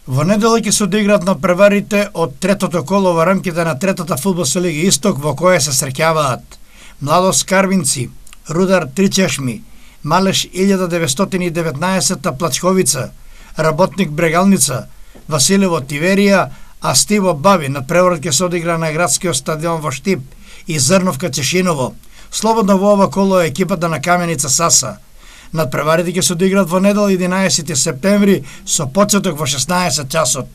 Во недела ќе се одиграат надпреварите од третото коло во рамките на третата фудбалска лига Исток, во која се среќаваат Младост Карвинци, Рудар Тричешми, Малеш 1919 Плачковица, Работник Брегалница, Василево Тиверија, а Стиво Бави. Надпреварот ќе се одигра на градскиот стадион во Штип и Зрновка Чешиново. Слободно во ова коло е екипата на Каменица Саса. Надпреварите ќе се одиграат во недела 11 септември со почеток во 16 часот.